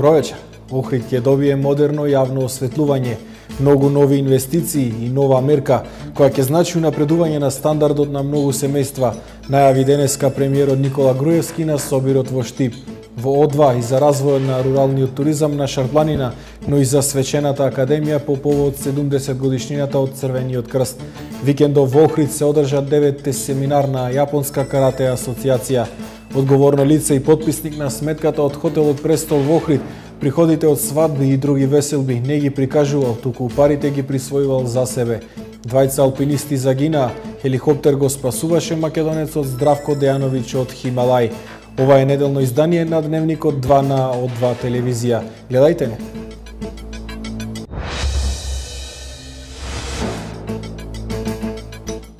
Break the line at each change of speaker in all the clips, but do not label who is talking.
Добро вечер. Охрид ќе добие модерно јавно осветлување, многу нови инвестиции и нова мерка која ќе значи унапредување на стандардот на многу семејства, најави денеска премиерот Никола Груевски на собирот во Штип. Во О2 и за развојот на руралниот туризам на Шарпланина, но и за свечената академија по повод 70 годишнината од Црвениот крст. Викендов во Охрид се одржа 9-те семинар на Јапонска карате асоциација. Одговорно лице и потписник на сметката од хотелот Престол во Охрид, приходите од свадби и други веселби не ги прикажувал, туку парите ги присвојувал за себе. Двајца алпинисти загинаа, хеликоптер го спасуваше македонецот Здравко Дејановиќ од Хималај. Ова е неделно издание на Дневникот 2 на О2 телевизија. Гледајте не.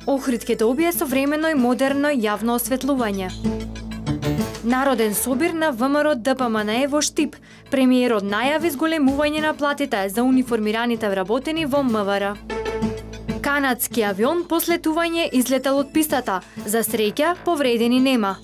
Охрид ќе добие современо и модерно јавно осветлување. Народен собир на ВМРО ДПМНЕ во Штип. Премиерот најави зголемување на платите за униформираните вработени во МВР. Канадски авион по слетување излетел од пистата. За среќа, повредени нема.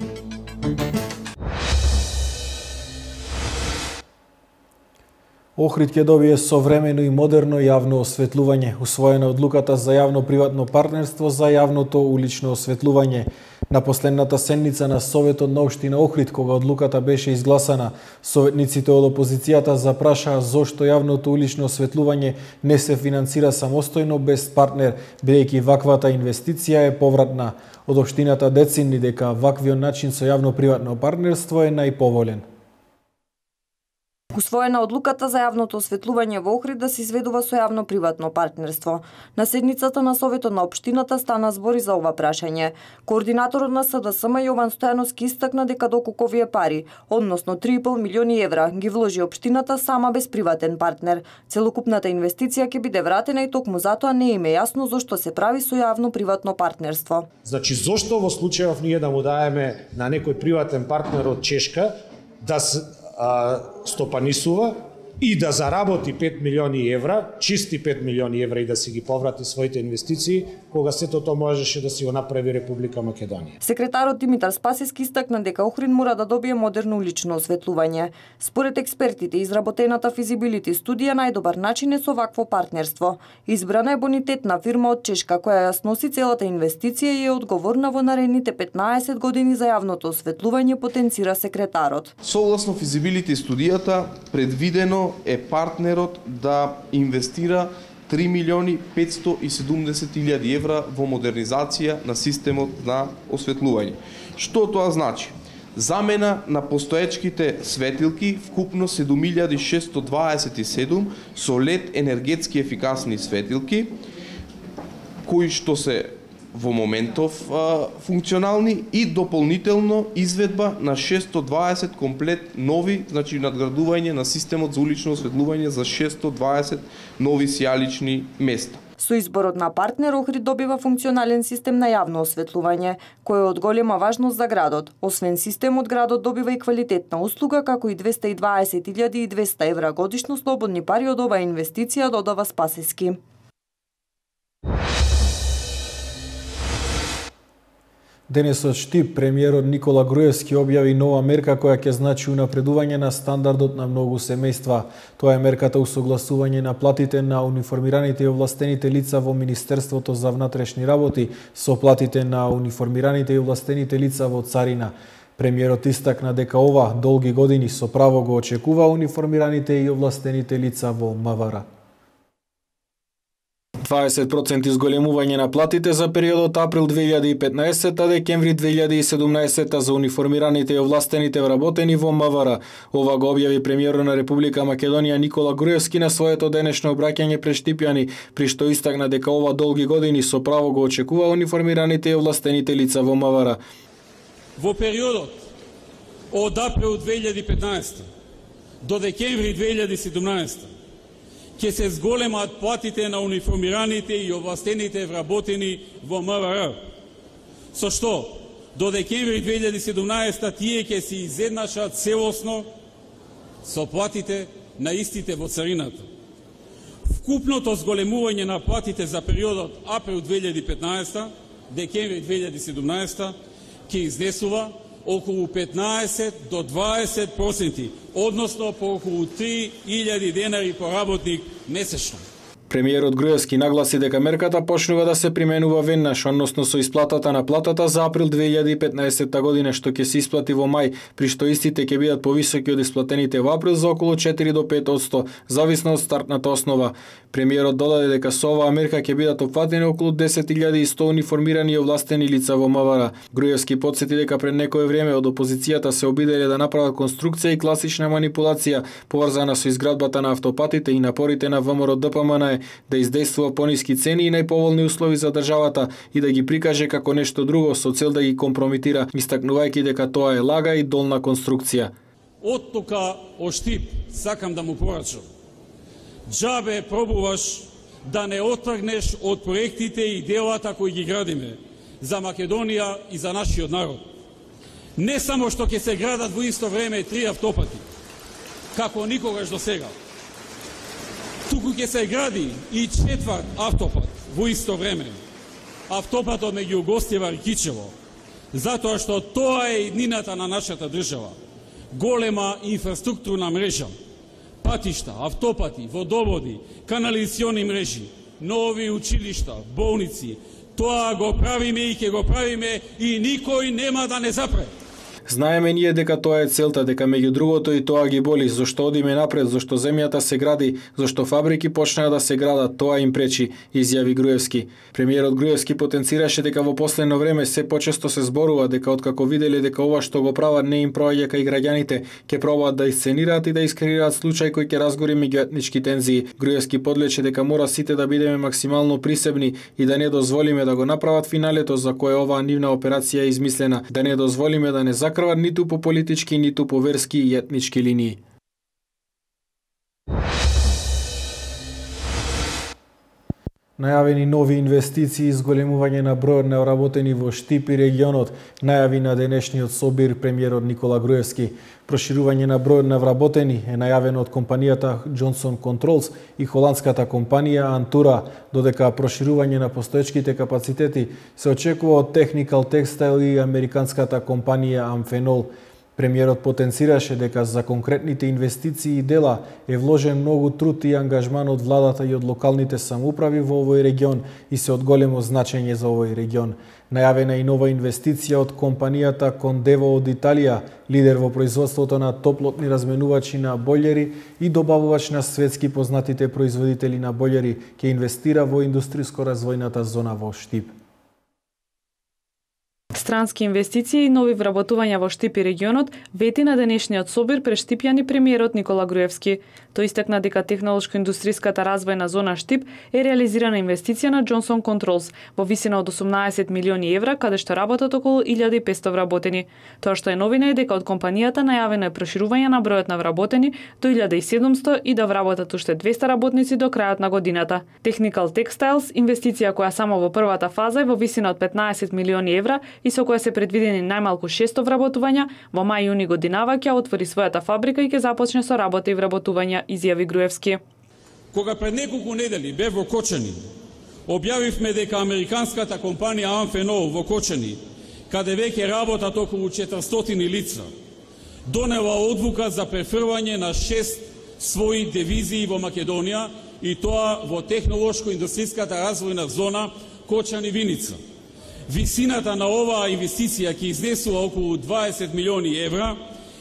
Охрид ќе добие современо и модерно јавно осветлување, усвоена одлуката за јавно-приватно партнерство за јавното улично осветлување. На последната седница на Советот на општина Охрид, кога одлуката беше изгласана, советниците од опозицијата запрашаа зошто јавното улично осветлување не се финансира самостојно без партнер, бидејќи ваквата инвестиција е повратна. Од општината децинни дека ваквиот начин со јавно-приватно партнерство е најповолен.
Усвоена одлуката за јавното осветлување во Охрид да се изведува со јавно-приватно партнерство. На седницата на Советот на општината стана збори за ова прашање. Координаторот на СДСМ Јован Стојановски истакна дека доколку овие пари, односно 3,5 милиони евра, ги вложи општината сама без приватен партнер, целокупната инвестиција ќе биде вратена и токму затоа не им е јасно зошто се прави со јавно-приватно партнерство.
Значи зошто во случајов ние да му даеме на некој приватен партнер од Чешка да стопанисува и да заработи 5 милиони евра, чисти 5 милиони евра и да си ги поврати своите инвестиции, кога сето тоа можеше да си го направи Република Македонија.
Секретарот Димитар Спасиски истакна дека Охрид мора да добие модерно улично осветлување. Според експертите, изработената физибилити студија најдобар начин е со вакво партнерство. Избрана е бонитетна фирма од Чешка која ја сноси целата инвестиција и е одговорна во наредните 15 години за јавното осветлување, потенцира секретарот.
Согласно физибилити студијата, предвидено е партнерот да инвестира 3 милиони 570 илјади евра во модернизација на системот на осветлување. Што тоа значи? Замена на постоечките светилки, вкупно 7627 со LED енергетски ефикасни светилки, кои што се во моментов функционални и дополнително изведба на 620 комплет нови, значи надградување на системот за улично осветлување за 620 нови сијалични места.
Со изборот на партнер Охрид добива функционален систем на јавно осветлување, кој е од голема важност за градот. Освен системот, градот добива и квалитетна услуга, како и 220.200 евра годишно слободни пари од оваа инвестиција, додава Спасиски.
Денес од Штип премиерот Никола Груевски објави нова мерка која ќе значи унапредување на стандардот на многу семејства. Тоа е мерката усогласување на платите на униформираните и овластените лица во Министерството за внатрешни работи со платите на униформираните и овластените лица во Царина. Премиерот истакна дека ова долги години со право го очекува униформираните и овластените лица во МВР. 20% изголемување на платите за периодот април 2015-декември 2017 за униформираните и овластените вработени во МВР. Ова го објави премиерот на Република Македонија Никола Груевски на своето денешно обраќање пред штипјани, при што истакна дека ова долги години со право го очекува униформираните и овластените лица во МВР.
Во периодот од април 2015 до декември 2017 ќе се зголемат платите на униформираните и овластените вработени во МВР. Со што, до декември 2017 тие ќе се изеднашат целосно со платите на истите во царината. Вкупното зголемување на платите за периодот април 2015 декември 2017 ќе изнесува околу 15 до 20%, односно по околу 3.000 денари по работник месечно.
Премиерот Груевски нагласи дека мерката почнува да се применува веднаш, односно со исплатата на платата за април 2015 година, што ќе се исплати во мај, при што истите ќе бидат повисоки од исплатените во април за околу 4 до 5%, зависно од стартната основа. Премиерот додаде дека со оваа мерка ќе бидат опфатени околу 10.100 униформирани и овластени лица во МВР. Груевски потсети дека пред некое време од опозицијата се обиделе да направат конструкција и класична манипулација поврзана со изградбата на автопатите и напорите на ВМРО ДПМН да издействува пониски цени и најповолни услови за државата и да ги прикаже како нешто друго со цел да ги компромитира, истакнувајќи дека тоа е лага и долна конструкција.
Од тука Оштип сакам да му порачам. Џабе пробуваш да не отргнеш од проектите и делата кои ги градиме за Македонија и за нашиот народ. Не само што ќе се градат во исто време 3 автопати, како никогаш до сега, туку ќе се гради и 4 автопат во исто време. Автопатот меѓу Гостивар и Кичево, затоа што тоа е иднината на нашата држава. Голема инфраструктурна мрежа, патишта, автопати, водоводи, канализациони мрежи, нови училишта, болници. Тоа го правиме и ќе го правиме и никој нема да не запре.
Знаеме ние дека тоа е целта, дека меѓу другото и тоа ги боли, зашто одиме напред, зашто земјата се гради, зашто фабрики почнаа да се градат, тоа им пречи, изјави Груевски. Премиерот Груевски потенцираше дека во последно време се почесто се зборува дека откако виделе дека ова што го прават не им проаѓа кај граѓаните, ќе пробаат да исценираат и да искреираат случај кој ќе разгори меѓуетнички тензии. Груевски подлече дека мора сите да бидеме максимално присебни и да не дозволиме да го направат финалето за кое оваа нивна операција е измислена, да не дозволиме да не закрват ниту по политички, ниту по верски и етнички линии. Најавени нови инвестиции и зголемување на бројот на вработени во Штип и регионот, најави на денешниот собир премиерот Никола Груевски. Проширување на бројот на вработени е најавено од компанијата Johnson Controls и холандската компанија Антура, додека проширување на постоечките капацитети се очекува од Technical Textile и американската компанија Amphenol. Премиерот потенцираше дека за конкретните инвестиции и дела е вложен многу труд и ангажман од владата и од локалните самоуправи во овој регион и се од големо значење за овој регион. Најавена и нова инвестиција од компанијата Кондево од Италија, лидер во производството на топлотни разменувачи на бољери и добавувач на светски познатите производители на бољери, ќе инвестира во индустријско развојната зона во Штип.
Странски инвестиции и нови вработувања во Штип и регионот вети на денешниот собир пред штипјани премиерот Никола Груевски. Тој истакна дека технолошко-индустријската развојна зона Штип е реализирана инвестиција на Johnson Controls во висина од 18 милиони евра, каде што работат околу 1500 вработени. Тоа што е новина е дека од компанијата најавено е проширување на бројот на вработени до 1700 и да вработат уште 200 работници до крајот на годината. Technical Textiles, инвестиција која само во првата фаза е во висина од 15 милиони евра и со која се предвидени најмалку 600 вработувања, во мај-јуни годинава ќе отвори својата фабрика и ќе започне со работа и вработувања, изјави Груевски.
Кога пред неколку недели бев во Кочани, објавивме дека американската компанија Amphenol во Кочани, каде веќе работат околу 400 лица, донела одлука за префрвање на 6 своји дивизии во Македонија и тоа во технолошко-индустријската развојна зона Кочани-Виница. Висината на оваа инвестиција ќе изнесува околу 20 милиони евра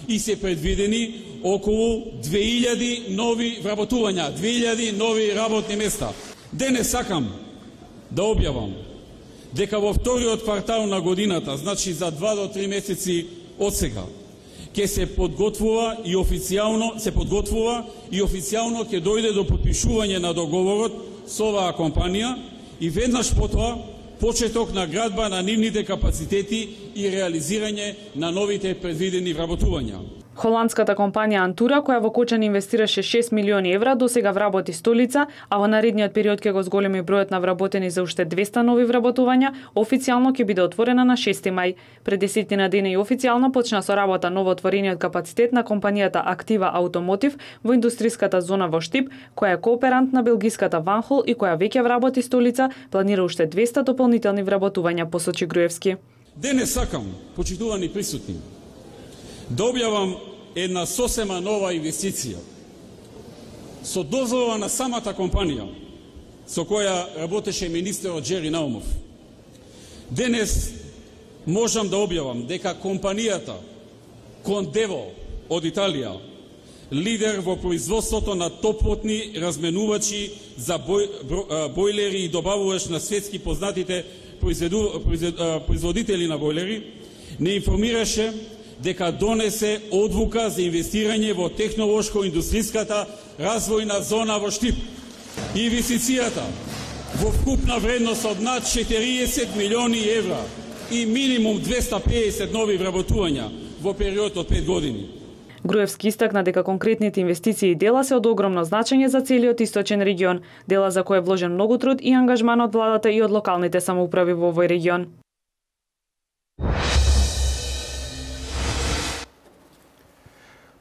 и се предвидени околу 2000 нови вработувања, 2000 нови работни места. Денес сакам да објавам дека во вториот квартал на годината, значи за 2 до 3 месеци од сега, ќе се подготвува и официјално ќе дојде до потпишување на договорот со оваа компанија и веднаш потоа почеток на градба на нивните капацитети и реализирање на новите предвидени вработувања.
Холандската компанија Антура, која во Кочани инвестираше 6 милиони евра, досега вработи 100 лица, а во наредниот период ќе го зголеми бројот на вработени за уште 200 нови вработувања, официјално ќе биде отворена на 6 мај. Пред 10 дена и официјално почна со работа новоотворениот капацитет на компанијата Актива Automotive во индустријската зона во Штип, која е кооперант на белгиската Ванхол и која веќе вработи 100 лица, планира уште 200 дополнителни вработувања, посочи Груевски.
Денес сакам, почитувани присутни, да објавам една сосема нова инвестиција со дозвола на самата компанија со која работеше министерот Джери Наумов. Денес можам да објавам дека компанијата Кондево од Италија, лидер во производството на топлотни разменувачи за бойлери и добавувач на светски познатите производители на бойлери, не информираше дека донесе одлука за инвестирање во технолошко-индустриската развојна зона во Штип. Инвестицијата во вкупна вредност од над 40 милиони евра и минимум 250 нови вработувања во период од 5 години.
Груевски истакна дека конкретните инвестиции и дела се од огромно значење за целиот источен регион, дела за кој е вложен многу труд и ангажман од владата и од локалните самоуправи во овој регион.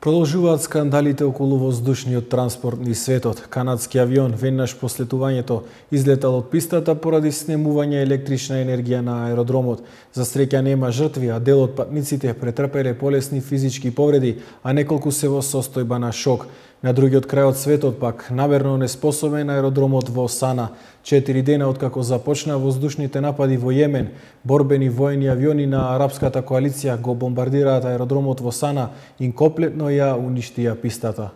Продолжуваат скандалите околу воздушниот транспорт низ светот. Канадски авион веднаш по слетувањето излетал од пистата поради снемување електрична енергија на аеродромот. За среќа нема жртви, а дел од патниците претрпеле полесни физички повреди, а неколку се во состојба на шок. На другиот крај од светот пак намерно неспособен аеродромот во Сана. 4 дена откако започна воздушните напади во Јемен, борбени воени авиони на арапската коалиција го бомбардираат аеродромот во Сана и комплетно ја уништија пистата.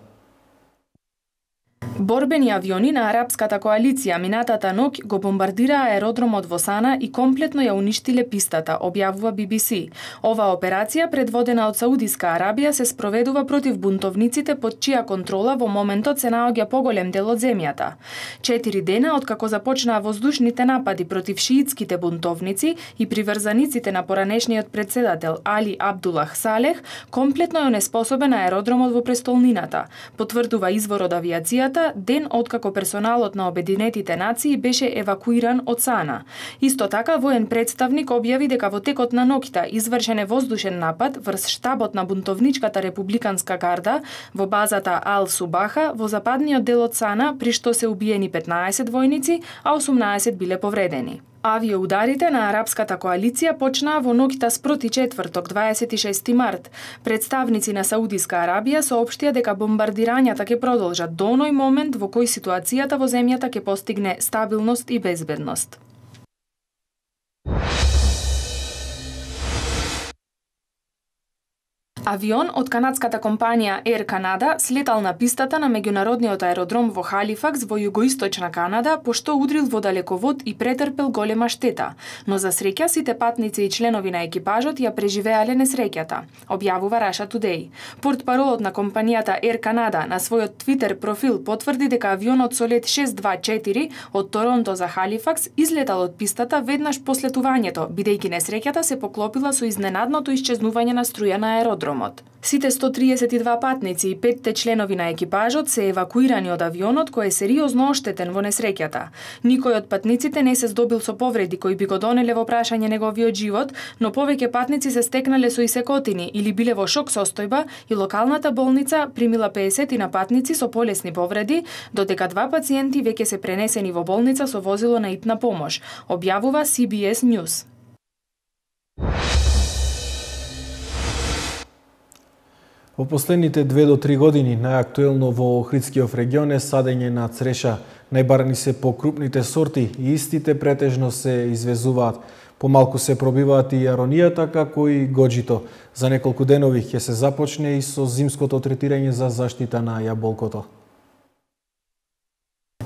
Борбени авиони на арапската коалиција минатата ноќ го бомбардираа аеродромот во Сана и комплетно ја уништиле пистата, објавува BBC. Ова операција, предводена од Саудиска Арабија, се спроведува против бунтовниците под чија контрола во моментот се наоѓа поголем дел од земјата. 4 дена откако започнаа воздушните напади против шиитските бунтовници и приврзаниците на поранешниот председател Али Абдулах Салех, комплетно е неспособен аеродромот во престолнината, потврдува извор од авиацијата ден откако персоналот на Обединетите нации беше евакуиран од Сана. Исто така, воен представник објави дека во текот на ноќта извршен е воздушен напад врз штабот на бунтовничката републиканска гарда во базата Ал Субаха во западниот дел од Сана, при што се убиени 15 војници, а 18 биле повредени. Авиоударите на арапската коалиција почнаа во ноќта спроти четврток, 26 март. Представници на Саудиска Арабија соопштија дека бомбардирањата ќе продолжат до оној момент во кој ситуацијата во земјата ќе постигне стабилност и безбедност. Авион од канадската компанија Air Canada слетал на пистата на меѓународниот аеродром во Халифакс во југоисточна Канада, пошто удрил во далековод и претрпел голема штета, но за среќа сите патници и членови на екипажот ја преживеале несреќата, објавува Russia Today. Портпаролот на компанијата Air Canada на својот Твитер профил потврди дека авионот со лет 624 од Торонто за Халифакс излетал од пистата веднаш по слетувањето, бидејќи несреќата се поклопила со изненадното исчезнување на струја на аеродромот. Сите 132 патници и 5 членови на екипажот се евакуирани од авионот кој е сериозно оштетен во несреќата. Никој од патниците не се здобил со повреди кои би го донеле во прашање неговиот живот, но повеќе патници се стекнале со исекотини или биле во шок состојба и локалната болница примила 50 на патници со полесни повреди, додека 2 пациенти веќе се пренесени во болница со возило на итна помош, објавува CBS News.
Во последните 2 до 3 години најактуелно во Охридскиот регион е садење на цреша. Најбарани се покрупните сорти и истите претежно се извезуваат. Помалку се пробиваат и аронијата како и гоџито. За неколку денови ќе се започне и со зимското третирање за заштита на јаболкото.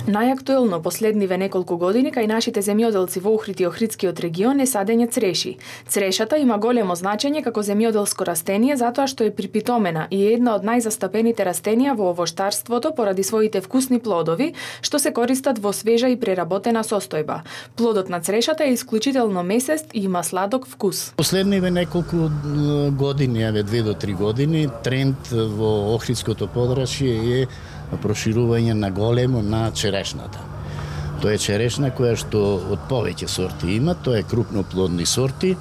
Најактуелно последниве неколку години кај нашите земјоделци во Охрид и Охридскиот регион е садење цреши. Црешата има големо значење како земјоделско растение затоа што е припитомена и е една од најзастапените растенија во овоштарството поради своите вкусни плодови, што се користат во свежа и преработена состојба. Плодот на црешата е исклучително месест и има сладок вкус.
Последниве неколку години, 2 до 3 години, тренд во Охридското подрачје е проширување на големо на черешната. Тоа е черешна која што од повеќе сорти има, тоа е крупноплодни сорти,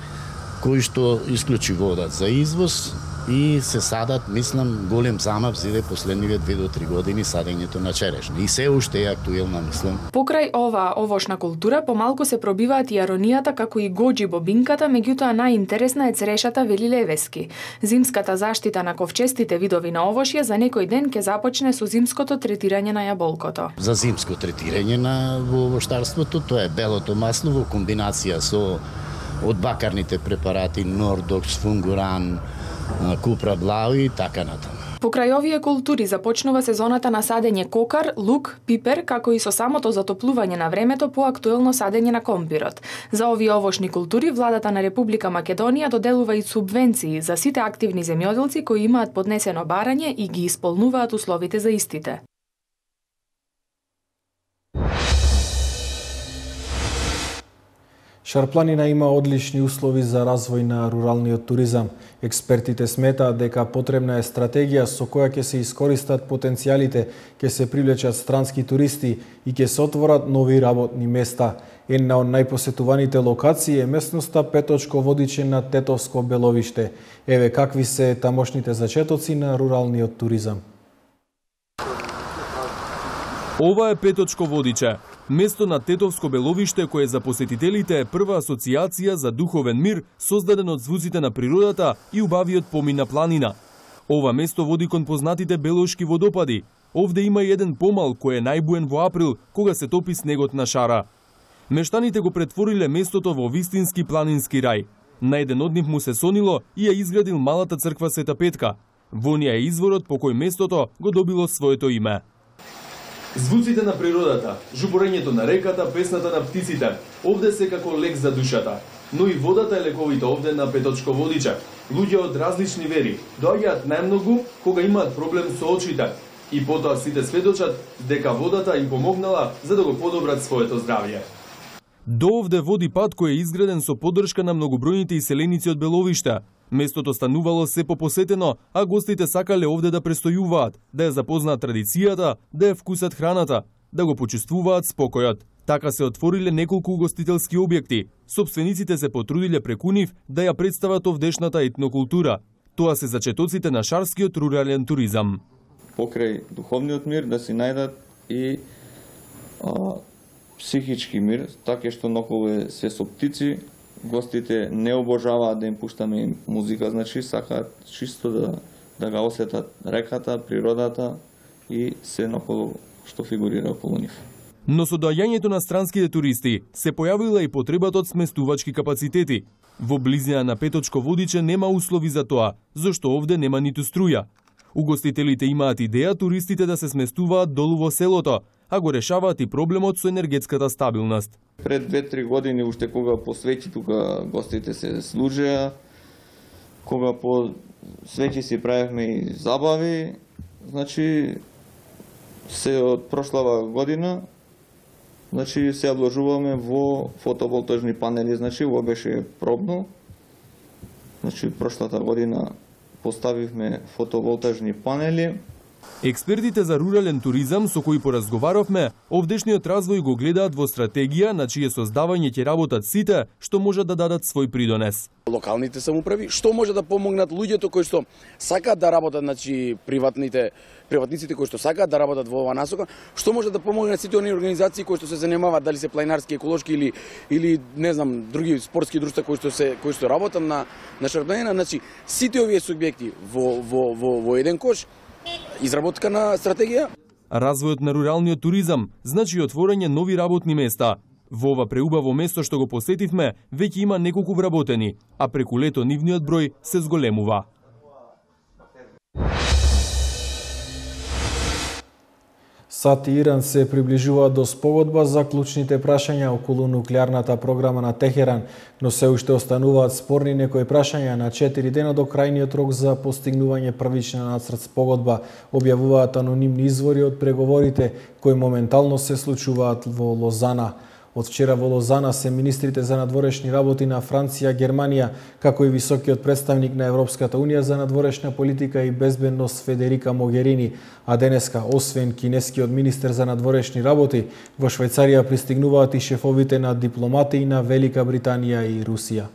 кои што исклучи водат за извоз и се садат, мислам, голем замав зиде последниве 2 до 3 години садењето на черешна. И се уште е актуелна, мислам.
Покрај ова овошна култура, помалку се пробиваат и аронијата како и гоџи бобинката, меѓутоа најинтересна е црешата, вели Левески. Зимската заштита на ковчестите видови на овошје за некој ден ќе започне со зимското третирање на јаболкото.
За зимско третирање на овоштарството, тоа е белото масло во комбинација со од бакарните препарати Нордокс, Фунгуран, Купра Блау и така натаму.
Покрај овие култури започнува сезоната на садење кокар, лук, пипер, како и со самото затоплување на времето поактуелно садење на компирот. За овие овошни култури владата на Република Македонија доделува и субвенции за сите активни земјоделци кои имаат поднесено барање и ги исполнуваат условите за истите.
Шарпланина има одлични услови за развој на руралниот туризам. Експертите сметаат дека потребна е стратегија со која ќе се искористат потенцијалите, ќе се привлечат странски туристи и ќе се отворат нови работни места. Една од најпосетуваните локации е местноста Петочко Водиче на Тетовско Беловиште. Еве какви се тамошните зачетоци на руралниот туризам.
Ова е Петочко Водиче, место на Тетовско Беловиште кое за посетителите е прва асоциација за духовен мир создаден од звуците на природата и убавиот помин на планина. Ова место води кон познатите Белошки водопади. Овде има и еден помал кој е најбуен во април, кога се топи снегот на шара. Мештаните го претвориле местото во вистински планински рај. На еден од нив му се сонило и ја изградил малата црква Света Петка. Во неа е изворот по кој местото го добило своето име. Звуците на природата, жуборењето на реката, песната на птиците, овде се како лек за душата. Но и водата е лековита овде на Петочко Водиче. Луѓе од различни вери доаѓаат најмногу кога имаат проблем со очите. И потоа сите сведочат дека водата им помогнала за да го подобрат своето здравје. До овде води пат кој е изграден со поддршка на многобројните иселеници од Беловиште. Местото станувало се попосетено, а гостите сакале овде да престојуваат, да ја запознаат традицијата, да ја вкусат храната, да го почувствуваат спокојот. Така се отвориле неколку угостителски објекти. Собствениците се потрудиле преку нив да ја представат овдешната етнокултура. Тоа се зачетоците на шарскиот рурален туризам.
Покрај духовниот мир да си најдат и психички мир, така што ноколу се со птици. Гостите не обожаваат да им пуштаме им музика, значи сакаат чисто да го осетат реката, природата и се наколу што фигурира околу нив.
Но со доаѓањето на странските туристи се појавила и потребата од сместувачки капацитети. Во близина на Петочко Водиче нема услови за тоа, зашто овде нема ниту струја. Угостителите имаат идеја туристите да се сместуваат долу во селото, а го решаваат и проблемот со енергетската стабилност.
Пред 2-3 години, уште кога по свеќи тука гостите се служеа, кога по свеќи си правевме и забави, значи се од прошлава година, значи се обложуваме во фотоволтажни панели, значи во беше пробно. Значи прошлата година поставивме фотоволтажни панели.
Експертите за рурален туризам со кои поразговаравме, овдешниот развој го гледаат во стратегија на чие создавање ќе работат сите што можат да дадат свој придонес.
Локалните самоуправи, што може да помогнат луѓето кои што сакаат да работат, значи приватниците кои што сакаат да работат во оваа насока, што може да помогнат сите оние организации кои што се занимаваат, дали се планинарски, еколошки или не знам, други спортски друштва кои што работат на шарпланина, значи сите овие субјекти во еден кош, изработка на стратегија.
Развојот на руралниот туризам значи отворање нови работни места. Во ова преубаво место што го посетивме, веќе има неколку вработени, а преку лето нивниот број се зголемува.
САД и Иран се приближуваат до спогодба за клучните прашања околу нуклеарната програма на Техеран, но се уште остануваат спорни некои прашања. На 4 дена до крајниот рок за постигнување првична нацрт спогодба, објавуваат анонимни извори од преговорите кои моментално се случуваат во Лозана. Од вчера во Лозана се министрите за надворешни работи на Франција, Германија, како и високиот представник на Европската Унија за надворешна политика и безбедност Федерика Могерини, а денеска, освен кинескиот министер за надворешни работи, во Швајцарија пристигнуваат и шефовите на дипломатии на Велика Британија и Русија.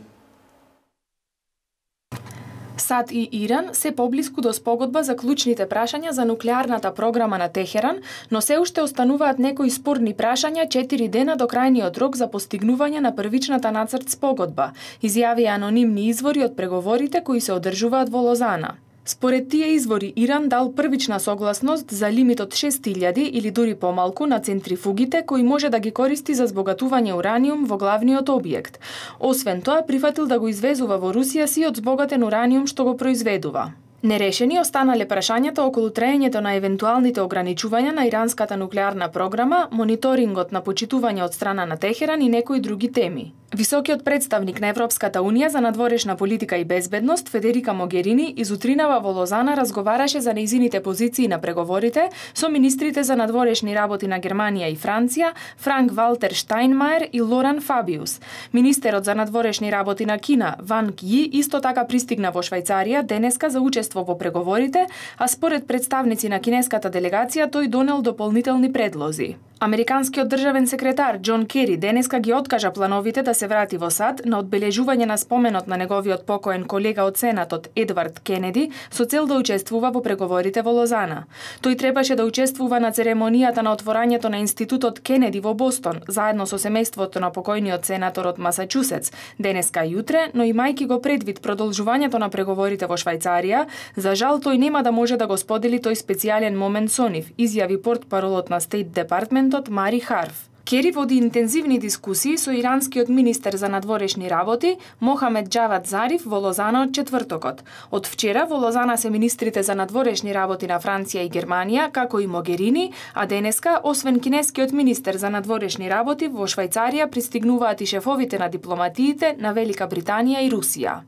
САД и Иран се поблиску до спогодба за клучните прашања за нуклеарната програма на Техеран, но се уште остануваат некои спорни прашања 4 дена до крајниот рок за постигнување на првичната нацрт спогодба, изјавија анонимни извори од преговорите кои се одржуваат во Лозана. Според тие извори, Иран дал првична согласност за лимит од 6000 или дури помалку на центрифугите кои може да ги користи за збогатување ураниум во главниот објект. Освен тоа, прифатил да го извезува во Русија сиот збогатен ураниум што го произведува. Нерешени останале прашањата околу траењето на евентуалните ограничувања на иранската нуклеарна програма, мониторингот на почитување од страна на Техеран и некои други теми. Високиот представник на Европската Унија за надворешна политика и безбедност Федерика Могерини изутринава во Лозана разговараше за нејзините позиции на преговорите со министрите за надворешни работи на Германија и Франција, Франк Валтер Штајнмаер и Лоран Фабиус. Министерот за надворешни работи на Кина, Ван Ки, исто така пристигна во Швајцарија денеска за учество во преговорите, а според представници на кинеската делегација тој донел дополнителни предлози. Американскиот државен секретар Џон Кери денеска ги откажа плановите да се врати во САД на одбележување на споменот на неговиот покоен колега од Сенатот Едвард Кенеди со цел да учествува во преговорите во Лозана. Тој требаше да учествува на церемонијата на отворањето на Институтот Кенеди во Бостон, заедно со семејството на покојниот сенатор од Масачусетс, денеска и утре, но имајќи го предвид продолжувањето на преговорите во Швајцарија, за жал тој нема да може да го сподели тој специјален момент со нив, изјави портпаролот на Стейт Департмент Мари Харф. Кери води интензивни дискусии со иранскиот министер за надворешни работи Мохамед Џавад Зариф во Лозана од четвртокот. Од вчера во Лозана се министрите за надворешни работи на Франција и Германија, како и Могерини, а денеска, освен кинескиот министер за надворешни работи, во Швајцарија пристигнуваат и шефовите на дипломатиите на Велика Британија и Русија.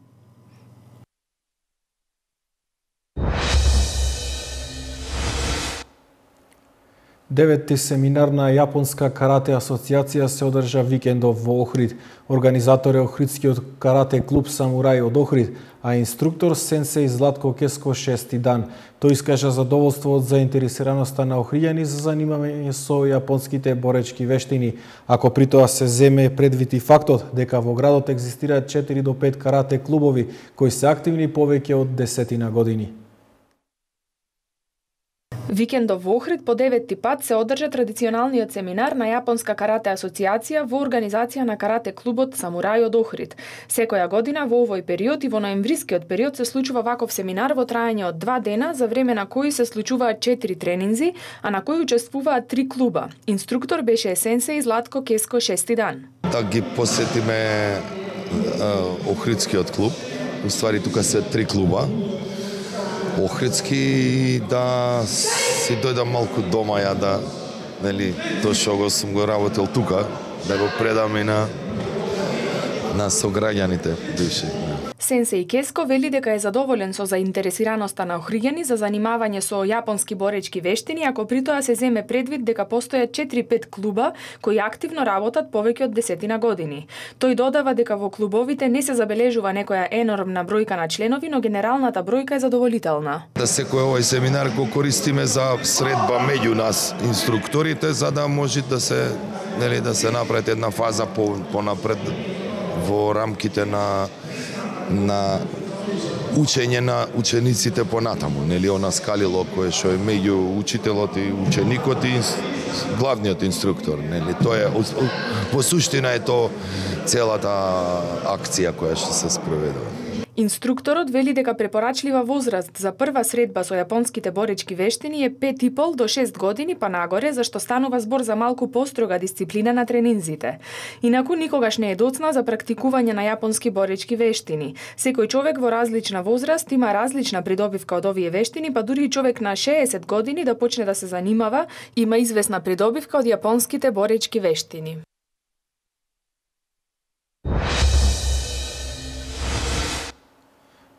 Деветти семинар на Јапонска карате асоциација се одржа викендов во Охрид. Организатор е Охридскиот карате клуб Самурај од Охрид, а инструктор сенсеј Златко Кеско шести дан. Тој искажа задоволство од заинтересираноста на охриѓани за занимање со јапонските боречки вештини, ако при тоа се земе предвид и фактот дека во градот екзистираат 4 до 5 карате клубови кои се активни повеќе од 10 години.
Викендов во Охрид по 9-ти пат се одржа традиционалниот семинар на Јапонска карате асоциација во организација на карате клубот Самурај од Охрид. Секоја година во овој период и во ноемврискиот период се случува ваков семинар во траење од 2 дена, за време на кои се случуваат 4 тренинзи, а на кои учествуваат 3 клуба. Инструктор беше сенсеј Златко Кеско шести дан.
Да ги посетиме Охридскиот клуб. Уствари тука се 3 клуба. Охридски, да си дојдам малку дома ја да, нели, тоа што го сум го работел тука, да го предам и на сограѓаните бивши.
Сенсеј Кеско вели дека е задоволен со заинтересираноста на охриѓани за занимавање со јапонски боречки вештини, ако при тоа се земе предвид дека постојат 4-5 клуба кои активно работат повеќе од 10 години. Тој додава дека во клубовите не се забележува некоја енормна бројка на членови, но генералната бројка е задоволителна.
Да секој овој семинар го користиме за средба меѓу нас инструкторите, за да може да се, нели, да се направи една фаза понапред во рамките на учење на учениците понатаму, нели, она скалило кое што е меѓу учителот и ученикот и главниот инструктор, нели. Тоа е во суштина е тоа целата акција која што се спроведува.
Инструкторот вели дека препорачлива возраст за прва средба со јапонските боречки вештини е 5,5 до 6 години па нагоре, зашто станува збор за малку построга дисциплина на тренинзите. Инаку никогаш не е доцна за практикување на јапонски боречки вештини. Секој човек во различна возраст има различна придобивка од овие вештини, па дури и човек на 60 години да почне да се занимава, има известна придобивка од јапонските боречки вештини.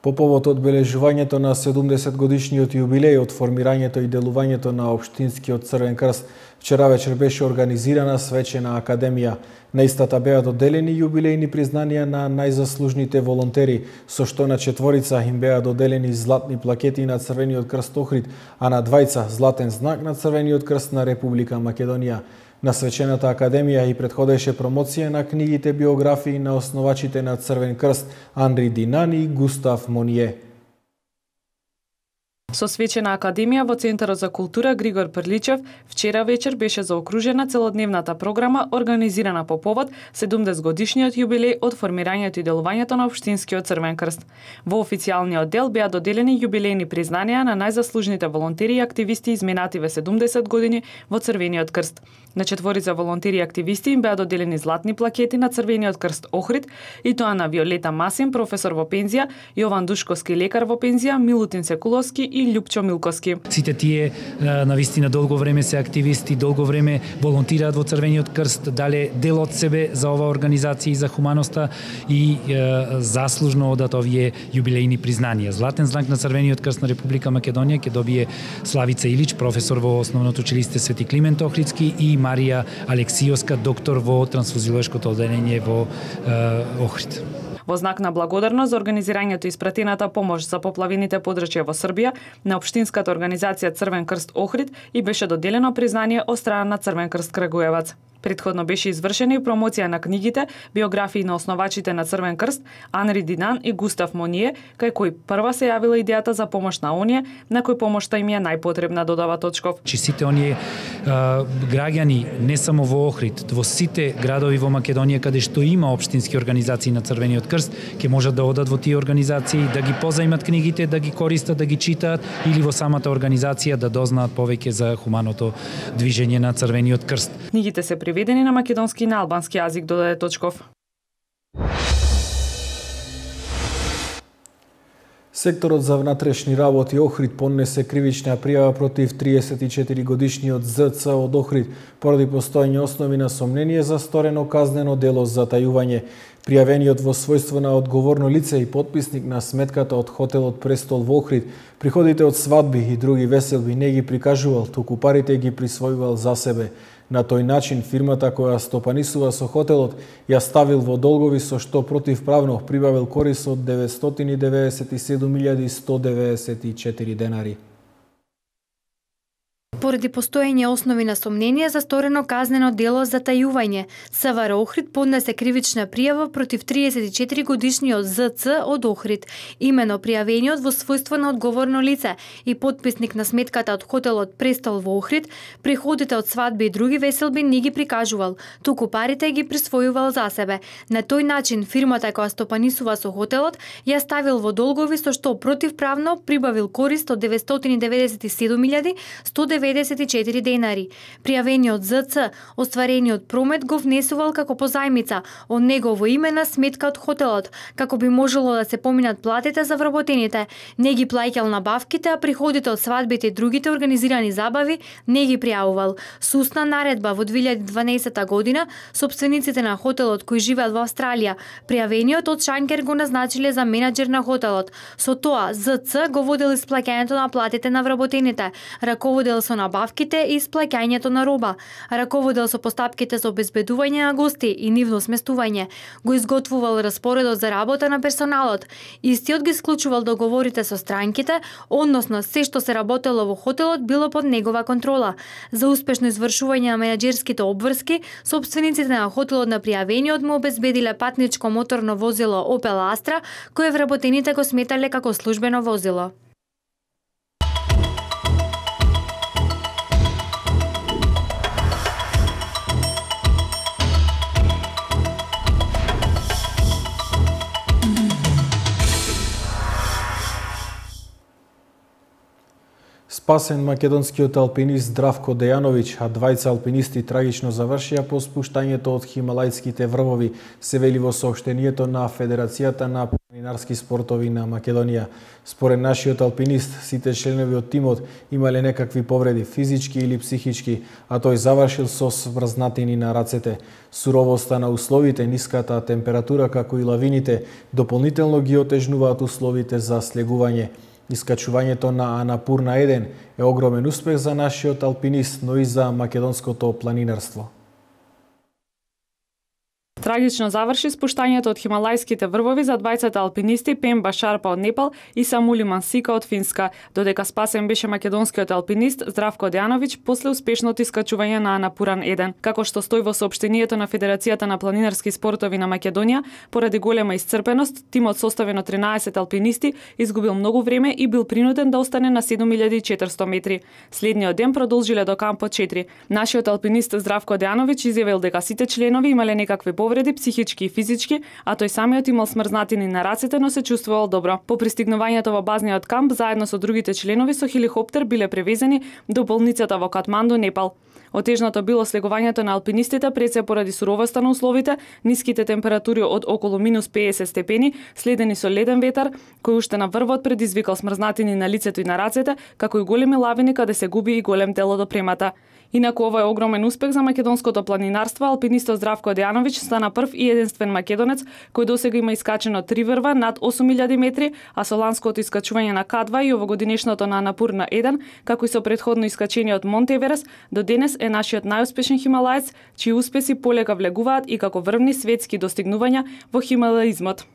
По повод одбележувањето на 70-годишниот јубилеј од формирањето и делувањето на Општинскиот Црвен крст, вчера вечер беше организирана свечена академија. На истата беа доделени јубилејни признанија на најзаслужните волонтери, со што на 4 им беа доделени златни плакети на Црвениот крст Охрид, а на 2 златен знак на Црвениот крст на Република Македонија. На свечената академија и предходеше промоција на книгите биографии на основачите на Црвен крст Андри Динани и Густав Моние.
Со свечена академија во Центарот за култура Григор Прличев вчера вечер беше заокружена целодневната програма организирана по повод 70 годишниот јубилеј од формирањето и делувањето на Општинскиот Црвен крст. Во официјалниот дел беа доделени јубилејни признанија на најзаслужните волонтери и активисти изминативе 70 години во Црвениот крст. На четворица волонтери и активисти им беа доделени златни плакети на Црвениот крст Охрид, и тоа на Виолета Масин, професор во пензија, Јован Душковски, лекар во пензија, Милутин Секуловски и Љупчо Милковски.
Сите тие навистина долго време се активисти, долго време волонтираат во Црвениот крст, дале дел од себе за оваа организација и за хуманоста и заслужно одат овие јубилејни признанија. Златен знак на Црвениот крст на Република Македонија ќе добие Славица Илич, професор во Основното училиште Свети Климент Охридски, и Марија Алексиовска, доктор во трансфузиолошкото одделение во Охрид.
Во знак на благодарност за организирањето и испратената помош за поплавените подрачја во Србија на Општинската организација Црвен крст Охрид и беше доделено признание од страна на Црвен крст Крагуевац. Предходно беше извршена и промоција на книгите, биографии на основачите на Црвен крст, Анри Динан и Густав Моние, кај кој прва се јавила идејата за помош на оние на кои помошта им е најпотребна, додава Точков.
Сите оние граѓани, не само во Охрид, во сите градови во Македонија каде што има општински организации на Црвениот крст, ќе можат да одат во тие организации, да ги позајмат книгите, да ги користат, да ги читаат, или во самата организација да дознаат повеќе за хуманото движење на Црвениот крст.
Книгите се преведени на македонски и на албански јазик, додаде Точков.
Секторот за внатрешни работи Охрид поднесе кривична пријава против 34-годишниот ЗЦ од Охрид поради постоење основи на сомнение за сторено казнено дело за затајување. Пријавениот во својство на одговорно лице и потписник на сметката од хотелот Престол во Охрид, приходите од свадби и други веселби не ги прикажувал, туку парите ги присвојувал за себе. На тој начин фирмата која стопанисува со хотелот ја ставил во долгови, со што противправно прибавил корис од 997.194 денари.
Поради постоење основи на сомнение за сторено казнено дело за затајување, СВР Охрид поднесе кривична пријава против 34-годишниот ЗЦ од Охрид. Имено пријавениот во својство на одговорно лице и потписник на сметката од хотелот Престол во Охрид, приходите од свадби и други веселби не ги прикажувал, туку парите ги присвојувал за себе. На тој начин фирмата која стопанисува со хотелот ја ставил во долгови, со што противправно прибавил корист од 997.194 денари. Пријавениот ЗЦ остварениот промет го внесувал како позајмица од негово име на сметка од хотелот, како би можело да се поминат платите за вработените. Не ги плаќал набавките, а приходите од свадбите и другите организирани забави не ги пријавувал. Со устна наредба во 2012 година, сопствениците на хотелот кои живеат во Австралија, пријавениот од Шанкер го назначиле за менаџер на хотелот. Со тоа ЗЦ го водел исплаќањето на платите на вработените, раководел со набавките и исплаќањето на роба, раководел со постапките за обезбедување на гости и нивно сместување, го изготвувал распоредот за работа на персоналот, истиот ги склучувал договорите со странките, односно се што се работело во хотелот било под негова контрола. За успешно извршување на менаџерските обврски, сопствениците на хотелот на пријавениот му обезбедиле патничко моторно возило Opel Astra, кое вработените го сметале како службено возило.
Спасен македонскиот алпинист Здравко Дејановиќ, а двајца алпинисти трагично завршија по спуштањето од хималајските врвови, се вели во соопштението на Федерацијата на планинарски спортови на Македонија. Според нашиот алпинист, сите членови од тимот имале некакви повреди, физички или психички, а тој завршил со сврзнатини на рацете. Суровоста на условите, ниската температура, како и лавините, дополнително ги отежнуваат условите за слегување. Искачувањето на Анапурна 1 е огромен успех за нашиот алпинист, но и за македонското планинарство.
Трагично заврши спуштањето од хималајските врвови за двајцата алпинисти Пемба Шарпа од Непал и Самули Мансика од Финска, додека спасен беше македонскиот алпинист Здравко Дејановиќ после успешното искачување на Анапуран 1. Како што стои во соопштението на Федерацијата на планинарски спортови на Македонија, поради голема исцрпеност, тимот составен од 13 алпинисти изгубил многу време и бил принуден да остане на 7400 метри. Следниот ден продолжиле до кампот 4. Нашиот алпинист Здравко Дејановиќ изјавил дека сите членови имале некакви повреди, психички и физички, а тој самиот имал смрзнатини на рацете, но се чувствувал добро. По пристигнувањето во базниот камп, заедно со другите членови со хеликоптер биле превезени до болницата во Катманду, Непал. Отежното било слегувањето на алпинистите пред се поради суровоста на условите, ниските температури од околу минус 50 степени, следени со леден ветар, кој уште на врвот предизвикал смрзнатини на лицето и на рацете, како и големи лавини каде се губи и голем дел од опремата. Инаку ова е огромен успех за македонското планинарство. Алпинистот Здравко Дејановиќ стана прв и единствен македонец кој досега има искачено 3 врва над 8000 метри, а со ланското искачување на К2 и овогодинешното на Анапурна 1, како и со претходно искачениот Монте Еверест, до денес е нашиот најуспешен хималаец, чии успеси полека влегуваат и како врвни светски достигнувања во хималаизмот.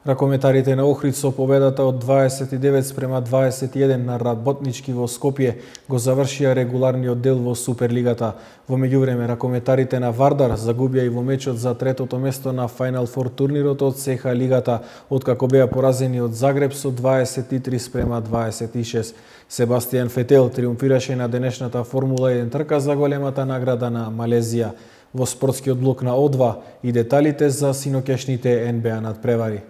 Ракометарите на Охрид со победата од 29-21 на Работнички во Скопје го завршија регуларниот дел во Суперлигата. Во меѓувреме, ракометарите на Вардар загубија и во мечот за третото место на Final Four турнирот од СХ Лигата, откако беа поразени од Загреб со 23-26. Себастијан Фетел триумфираше на денешната Формула 1 трка за големата награда на Малезија. Во спортскиот блок на О2 и деталите за синоќашните НБА надпревари.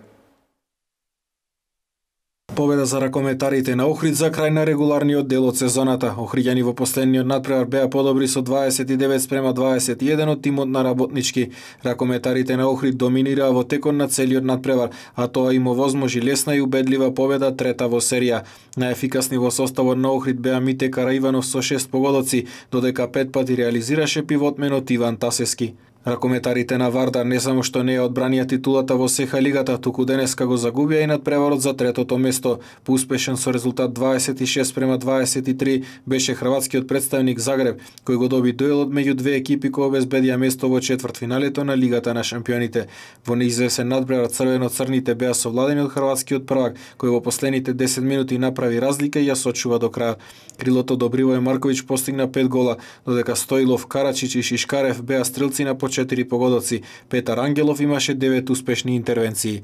Победа за ракометарите на Охрид за крај на регуларниот дел од сезоната. Охриѓани во последниот надпревар беа подобри со 29-21 од тимот на Работнички. Ракометарите на Охрид доминираа во текот на целиот надпревар, а тоа им овозможи лесна и убедлива победа, трета во серија. Најефикасни во составот на Охрид беа Мите Караиванов со 6 погодоци, додека 5 пати реализираше пивотменот Иван Тасески. Ракометарите на Вардар не само што не ја одбранија титулата во СХ Лигата, туку денеска го загубија и надпреварот за третото место. Поуспешен со резултат 26-23 беше хрватскиот представник Загреб, кој го доби дуелот меѓу две екипи кои обезбедија место во четвртфиналето на Лигата на шампионите. Во неизвесен надпревар црвено-црните беа совладени од хрватскиот prvак, кој во последните 10 минути направи разлика и ја сочува до крај. Крилото Добривој Марковиќ постигна 5 гола, додека Стоилов, Карачич и Шишкарев беа стрелци на 4 погодоци. Петар Ангелов имаше 9 успешни интервенции.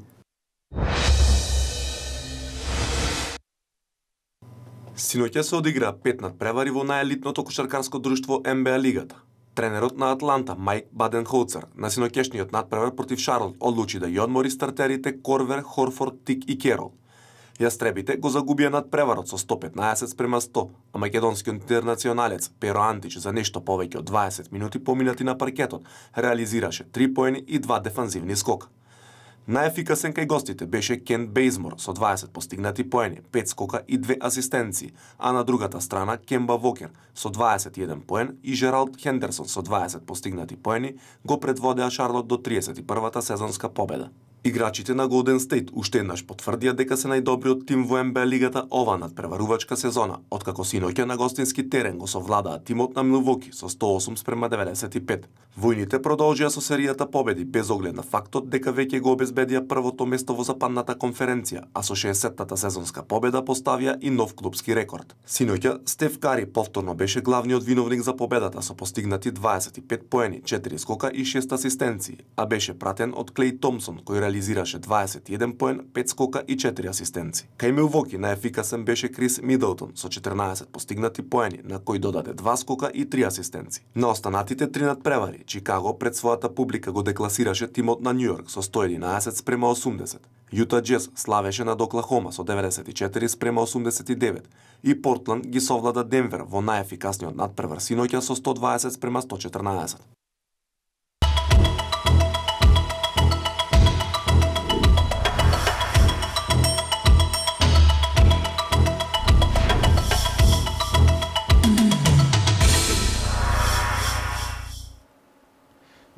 Синоќа се одигра 5 надпревари во најелитното кошаркарско друштво НБА Лигата. Тренерот на Атланта Майк Баденхолцер на синоќешниот надпревар против Шарлот одлучи да ја одмори стартерите Корвер, Хорфорд, Тик и Керол. Јастребите го загубија надпреварот со 115-100, а македонскиот интернационалец Перо Антич за нешто повеќе од 20 минути поминати на паркетот реализираше 3 поени и 2 дефанзивни скока. Најефикасен кај гостите беше Кент Бейзмор со 20 постигнати поени, 5 скока и 2 асистенции, а на другата страна Кемба Вокер со 21 поен и Жералд Хендерсон со 20 постигнати поени го предводеа Шарлот до 31-та сезонска победа. Играчите на Голден Стейт уште еднаш потврдија дека се најдобриот тим во НБА Лигата ова надпреварувачка сезона, откако синоќа на гостински терен го совладаа тимот на Милвоки со 108-95. Војните продолжија со серијата победи без оглед на фактот дека веќе го обезбедија првото место во западната конференција, а со 60-тата сезонска победа поставија и нов клубски рекорд. Синоќа Стеф Кари повторно беше главниот виновник за победата со постигнати 25 поени, 4 скока и 6 асистенции, а беше пратен од Клей Томсон кој реализираше 21 поен, 5 скока и 4 асистенции. Кај Милвоки најефикасен беше Крис Мидлтон со 14 постигнати поени, на кој додаде 2 скока и 3 асистенции. На останатите 3 надпревари, Чикаго пред својата публика го декласираше тимот на Њујорк со 111-80. Јута Джез славеше над Оклахома со 94-89 и Портланд ги совлада Денвер во најефикасниот надпревар синоќа со 120-114.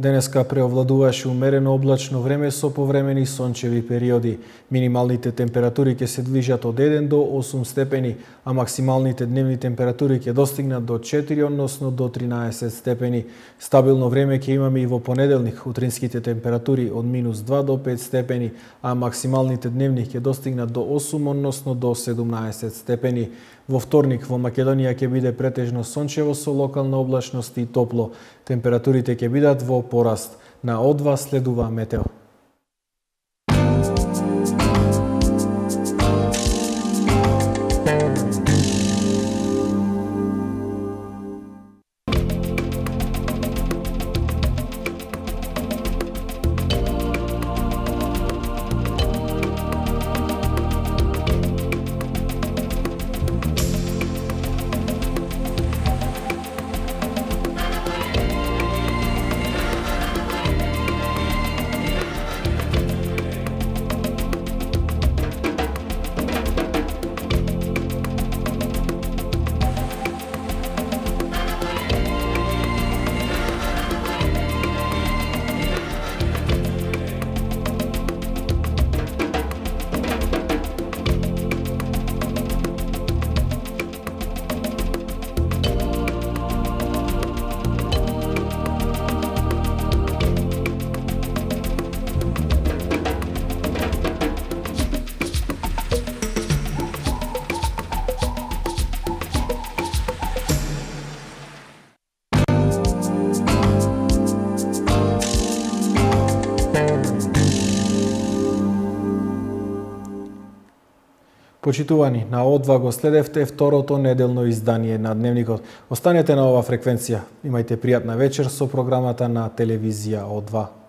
Денеска преовладуваше умерено облачно време со повремени сончеви периоди. Минималните температури ќе се движат од 1 до 8 степени, а максималните дневни температури ќе достигнат до 4, односно до 13 степени. Стабилно време ќе имаме и во понеделник. Утринските температури од -2 до 5 степени, а максималните дневни ќе достигнат до 8, односно до 17 степени. Во вторник во Македонија ќе биде претежно сончево со локална облачност и топло. Температурите ќе бидат во пораст. На О2 следува метео. Почитувани, на О2 го следевте второто неделно издание на Дневникот. Останете на ова фреквенција. Имајте пријатна вечер со програмата на телевизија О2.